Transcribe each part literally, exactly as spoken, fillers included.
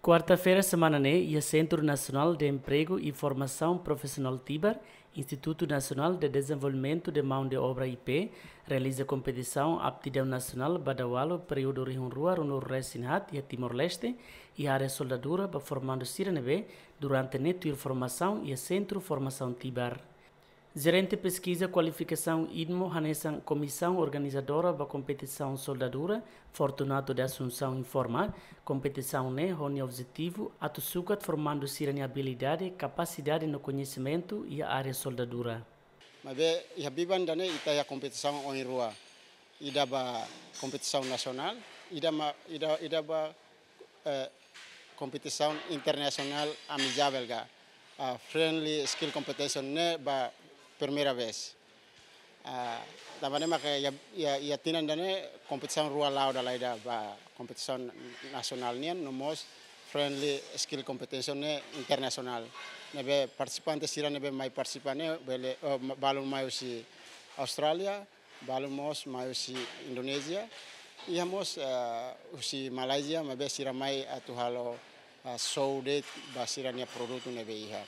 Kuarta-feira semana ne'e, iha Sentru Nasionál de Empregu i Formasaun Profisionál Tibar, Institutu Nasionál de Dezenvolvimentu de Maun de Obra I P, realiza kompetisaun aptidaun nasionál ba daudaun períodu rihun rua ruanulu resin haat iha Timor-Leste, iha área soldadura ba formandu sira ne'ebé durante ne'e tuir formasaun iha Sentru Formasaun Tibar. Jerente Peskiza Kualifikasaun IDMO hanesan komisaun organizadora ba kompetisaun soldadura, Fortunato de Assunção informa, kompetisaun ne'e ho nia objetivu atu sukat formandu sira-nia abilidade, kapasidade no koñesimentu iha área soldadura. Maibé iha biban ida-ne'e ita iha kompetisaun oin rua. Ida ba kompetisaun nasionál, ida ma, ida, ida ba, eh, kompetisaun internasionál amigável ka, ah, friendly skill competition ne'e ba primeira vez. Ah, tanba ne'e mak iha, iha, iha tinan ida-ne'e kompetisaun rua la'o dala ida ba kompetisaun nasionál nian, no mós friendly skill competition ne'e internasionál. Ne'ebé partisipante sira ne'ebé mai partisipa ne'e bele, eh, ma-, balun mai husi Austrália, balun mós mai husi Indonézia, iha mós, eh, husi Malázia, maibé sira mai atu halo, eh, show de'it ba sira-nia produtu ne'ebé iha.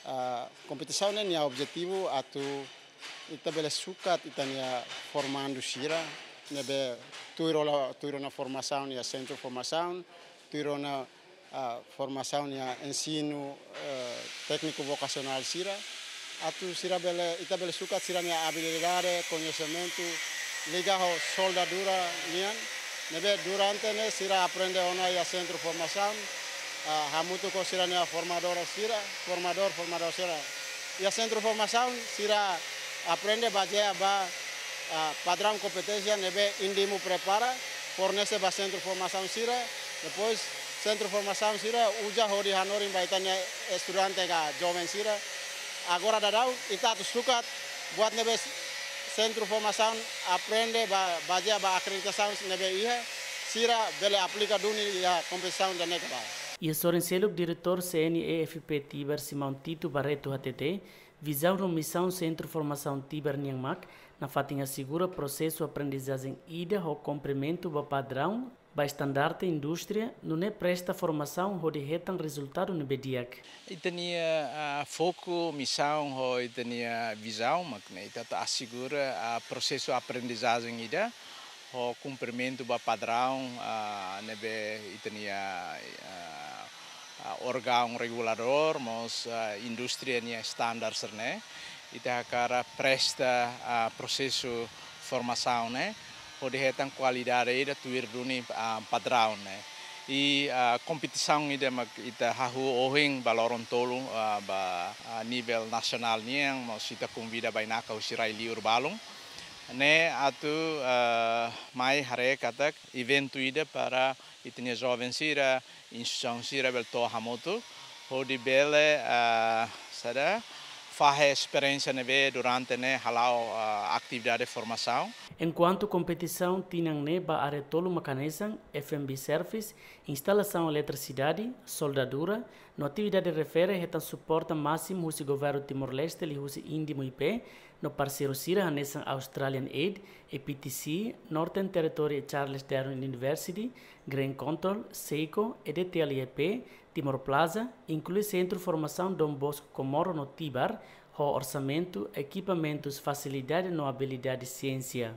Eh, kompetisaun ne'e nia objetivu atu ita bele sukat ita-nia formandu sira ne'ebé tuir ona, tuir ona formasaun iha sentru formasaun, tuir ona, ah, formasaun iha ensinu, eh, tékniku vokasionál sira, atu sira bele, ita bele sukat sira-nia abilidade, koñesimentu, liga ho soldadura nian, ne'ebé durante ne'e sira aprende ona iha sentru formasaun, ah, hamutuk ho sira-nia formadór sira, formadór, formadór sira. Iha sentru formasaun sira aprende bazeia ba, ah, padraun kompeténsia ne'ebé INDIMO prepara, fornese ba sentru formasaun sira, depois sentru formasaun sira uza hodi hanorin ba ita-nia estudante ka joven sira. Agora daudaun ita atu sukat buat ne'ebé sentru formasaun aprende ba, bazeia ba akreditasaun ne'ebé iha, sira bele aplika duni iha kompetisaun ida-ne'e ka ba. Iha sorin seluk, Diretór C N E F P Tibar, Simão Tito Barreto, hatete, vizaun no misaun Sentru Formasaun Tibar nian mak nafatin asegura prosesu aprendizajen ida ho kumprimentu ba padraun, ba estandarte indústria, nune'e presta formasaun hodi hetan rezultadu ne'ebé di'ak. Ita-nia, ah, foku, misaun ho ita-nia vizaun mak ne'e, ita atu asegura, ah, prosesu aprendizajen ida ho kumprimentu ba padraun, ah, ne'ebé ita-nia, ah, ah, órgaun reguladór, mós, ah, indústria nia standar sira-ne'e. Ita hakarak presta, ah, prosesu formasaun ne'e hodi hetan kualidade ida tuir duni, ah, padraun ne'e. I, ah, kompetisaun ida mak ita hahú ohin ba loron tolu, ah, ba, ah, nivel nasionál nian, mós ita konvida bainaka husi rai-liur balun. Ne'e atu, ah, mai haree katak eventu ida para ita-nia joven sira, instituisaun sira bele to'o hamutuk, hodi bele, ah, saida, fahe esperiénsia ne'ebé durante ne'e hala'o, ah, atividade formasaun. Enkuantu kompetisaun tinan ne'e ba área tolu mak hanesan, F M B service, instalasaun eletrisidade, soldadura, no atividade refere hetan suporta másimu husi Governu Timor-Leste liuhusi INDIMO I P, no parseiru sira hanesan Australian Aid, A P T C, Northern Territory Charles Darwin University, Grain Control, SEICO, E D T L I P, Timor Plaza, inklui Sentru Formasaun Dom Bosco Comoro no Tibar, ho orsamentu, ekipamentus, fasilidade no abilidade siénsia.